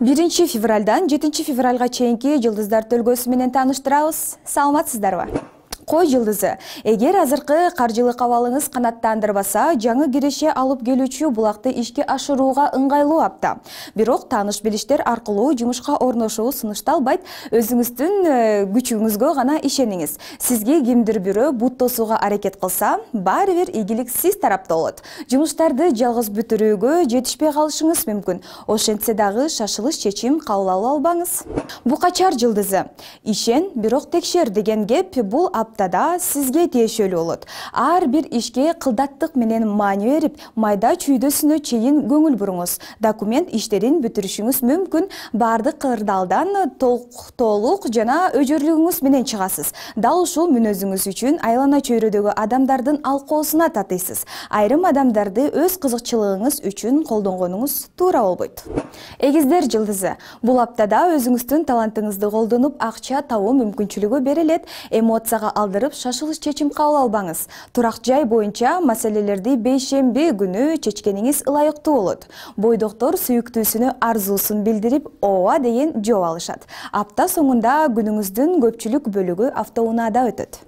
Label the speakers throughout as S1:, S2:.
S1: 1-февралдан 7-февралга чейинки жылдыздар төлгөсү менен тааныштырабыз. Саламатсыздарбы? Кой жылдызы. Эгер азыркы каржылык абалыңыз канаттандырбаса, жаңы киреше алып келүүчү булакты ишке ашырууга ыңгайлуу апта. Бирок тааныш билиштер аркылуу жумушка орношуу сунушталбайт. Өзүңүздүн күчүңүзгө гана ишениңиз. Сизге кимдир бирөө бут тосууга аракет кылса, баары бир ийгилик сиз тарапта болот. Жумуштарды жалгыз бүтүрүүгө жетишпей калышыңыз мүмкүн. Ошентсе дагы шашылыш чечим кабыл албаңыз. Букачар жылдызы. Ишен, бирок текшер деген кеп бул аптада сизге тиешелүү болот. Ар бир ишке кылдаттык менен маани берип, майда чүйдөсүнө чейин көңүл буруңуз. Документ иштерин бүтүрүшүңүз мүмкүн. Баардык кырдаалдан толук жана өжөрлүгүңүз менен чыгасыз. Дал ушул мүнөзүңүз үчүн айлана чөйрөдөгү адамдардын алкоосуна татыйсыз. Айрым адамдарды өз кызыкчылыгыңыз үчүн колдонгонуңуз туура болбойт. Эгиздер жылдызы. Бул аптада өзүңүздүн талантыңызды колдонуп, акча табуу мүмкүнчүлүгү берилет. Эмоцияга алдырып, шашылыш чечим кабыл албаңыз. Турак жай боюнча маселелерди бейшемби күнү чечкениңиз ылайыктуу болот. Бойдоктор сүйүктүүсүнө арзуусун билдирип, ооба деген жооп алышат. Апта соңунда күнүңүздүн көпчүлүк бөлүгү автоунаада өтөт.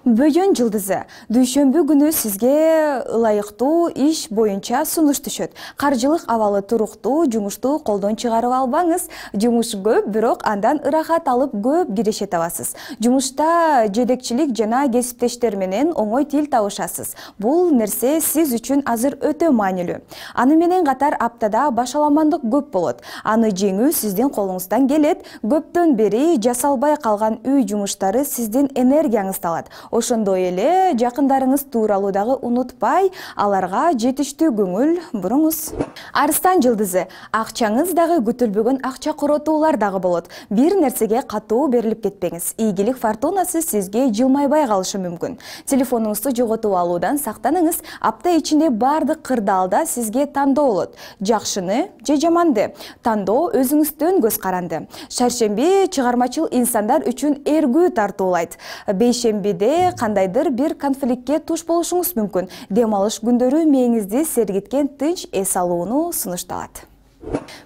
S1: Бөйөн жылдызы. Дүйшөмбү күнү сизге ылайыктуу иш боюнча сунуш түшөт. Каржылык абалы туруктуу, жумушту колдон чыгарып албаңыз. Жумуш көп, бирок андан ырахат алып көп киреше табасыз. Жумушта жетекчилик жана кесиптештер менен оңой тил табышасыз. Бул нерсе сиз үчүн азыр өтө маанилүү. Аны менен катар аптада башаламандык көп болот. Аны жеңүү сиздин колуңуздан келет. Көптөн бери жасалбай калган үй жумуштары сиздин энергияңызды алат. Ошондой эле жакындарыңыз тууралуу дагы унутпай, аларга жетиштүү көңүл буруңуз. Арстан жылдызы. Акчаңыз дагы күтүлбөгөн акча коротуулар дагы болот. Бир нерсеге катуу берилип кетпеңиз. Ийгилик фортунасы сизге жылмайбай калышы мүмкүн. Телефонуңузду жоготуп алуудан сактаныңыз. Апта ичинде бардык кырдаалда сизге тандоо болот. Жакшыны же жаманды тандоо өзүңүздөн көз каранды. Шаршемби чыгармачыл инсандар үчүн эргүү тартуулайт. Бейшембиде кандайдыр бир конфликтке туш болушуңуз мүмкүн. Дем алыш күндөрү мээңизди сергиткен тынч эс алууну сунушталат.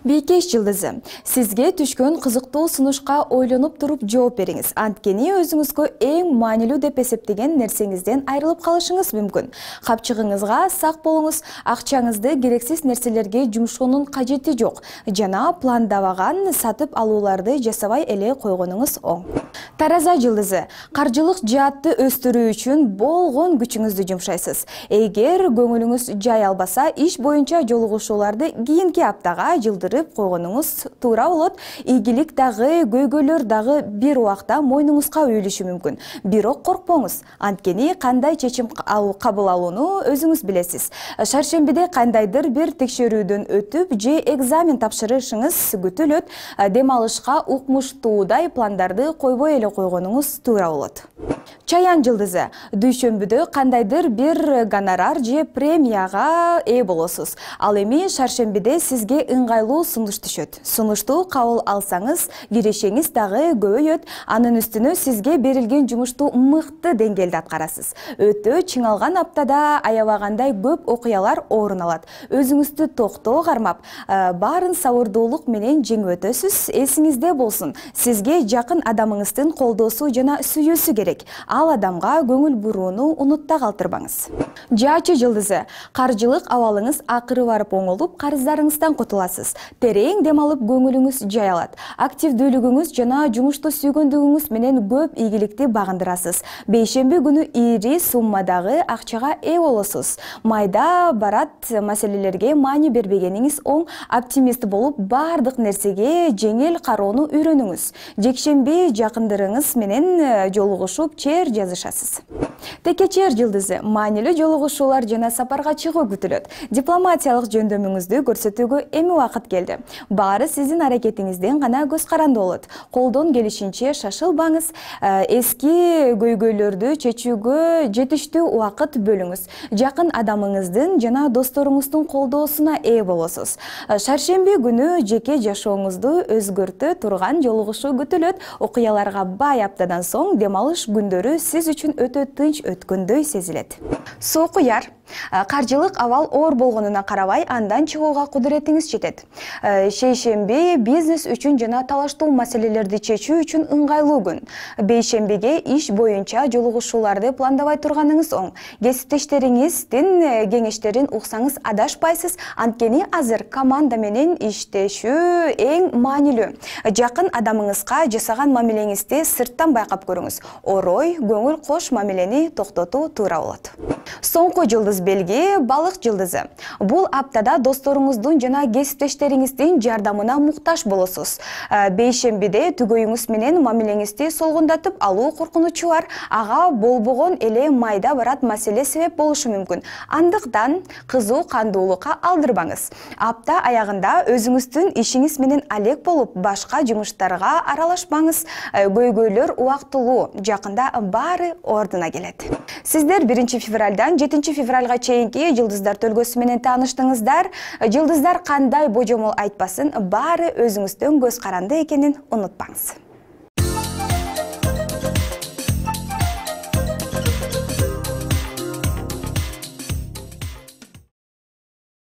S1: Бийкеш жылдызы. Сизге түшкөн кызыктуу сунушка ойлонуп туруп жооп бериңиз. Анткени өзүңүзгө эң маанилүү деп эсептеген нерсеңизден айрылып калышыңыз мүмкүн. Капчыгыңызга сак болуңуз. Акчаңызды керексиз нерселерге жумшоонун кажети жок. Жана пландабаган сатып алууларды жасабай эле койгонуңуз оң. Тараза жылдызы. Каржылык жаатты өстүрүү үчүн болгон күчүңүздү жумшайсыз. Эгер көңүлүңүз жай албаса, иш боюнча жолугушууларды кийинки аптага жылдырып койгонуңуз туура болот. Ийгилик дагы, көйгөйлөр дагы бир убакта мойнуңузга үйүлүшү мүмкүн. Бирок коркпоңуз. Анткени кандай чечим кабыл алууну өзүңүз билесиз. Шаршембиде кандайдыр бир текшерүүдөн өтүп же экзамен тапшырышыңыз күтүлөт. Дем алышка укмуштуудай пландарды койбой эле койгонуңуз туура болот. Чаян жылдызы. Дүйшөмбүдө кандайдыр бир гонорар же премияга ээ болосуз. Ал эми шаршембиде сизге ыңгайлуу сунуш түшөт. Сунушту кабыл алсаңыз, кирешеңиз дагы көбөйөт. Анын үстүнө сизге берилген жумушту мыкты деңгээлде аткарасыз. Өтө чыңалган аптада аябагандай көп окуялар орун алат. Өзүңүздү токтоо кармап, баарын сабырдуулук менен жеңип өтөсүз. Эсиңизде болсун, сизге жакын адамыңыздын колдоосу жана сүйүүсү керек. Ал адамга көңүл бурууну унутта калтырбаңыз. Жаачы жылдызы. Каржылык абалыңыз акыры барып оңолуп, карыздарыңыздан кутуласыз. Терең дем алып көңүлүңүз жай алат. Активдүүлүгүңүз жана жумушту сүйгөндүгүңүз менен көп ийгиликти багындырасыз. Бейшемби күнү ири суммадагы акчага ээ болосуз. Майда барат маселелерге маани бербегениңиз оң. Оптимист болуп, бардык нерсеге жеңил кароону үйрөнүңүз. Жекшемби жакындарыңыз менен жолугушуп, чер жазышасыз. Текечер жылдызы. Маанилүү жолугушуулар жана сапарга чыгуу күтүлөт. Дипломатиялык жөндөмүңүздү көрсөтүүгө эми убакыт келди. Баары сиздин аракетиңизден гана көз каранды болот. Колдон келишинче шашылбаңыз. Эски көйгөйлөрдү чечүүгө жетиштүү убакыт бөлүңүз. Жакын адамыңыздын жана досторуңуздун колдоосуна ээ болосуз. Шаршемби күнү жеке жашооңузду өзгөртө турган жолугушуу күтүлөт. Окуяларга бай аптадан соң дем алыш күндөрү сиз үчүн өтө тынч өткөндөй сезилет. Сокуяр. Каржылык абал оор болгонуна карабай, андан чыгууга кудуретиңиз жетет. Шейшемби бизнес үчүн жана талаштуу маселелерди чечүү үчүн ыңгайлуу күн. Бейшембиге иш боюнча жолугушууларды пландабай турганыңыз оң. Кесиптештериңиздин кеңештерин уксаңыз адашпайсыз, анткени азыр команда менен иштешүү эң маанилүү. Жакын адамыңызга жасаган мамилеңизди сырттан байкап көрүңүз. Орой, көңүл кош мамилени токтотуу туура болот. Соңку жылдыз белги — балык жылдызы. Бул аптада досторуңуздун жана кесиптештериңиздин жардамына муктаж болосуз. Бейшембиде түгөйүңүз менен мамилеңизди солгундатып алуу коркунучу бар. Ага болбогон эле майда барат маселе себеп болушу мүмкүн. Андыктан кызуу кандуулукка алдырбаңыз. Апта аягында өзүңүздүн ишиңиз менен алек болуп, башка жумуштарга аралашпаңыз. Көйгөйлөр убактылуу, жакында баары ордуна келет. Сиздер 1 февралдан 7 февралга чейинки жылдыздар төлгөсү менен тааныштыңыздар. Жылдыздар кандай божомол айтпасын, баары өзүңүздүн көз каранды экенин унутпаңыз.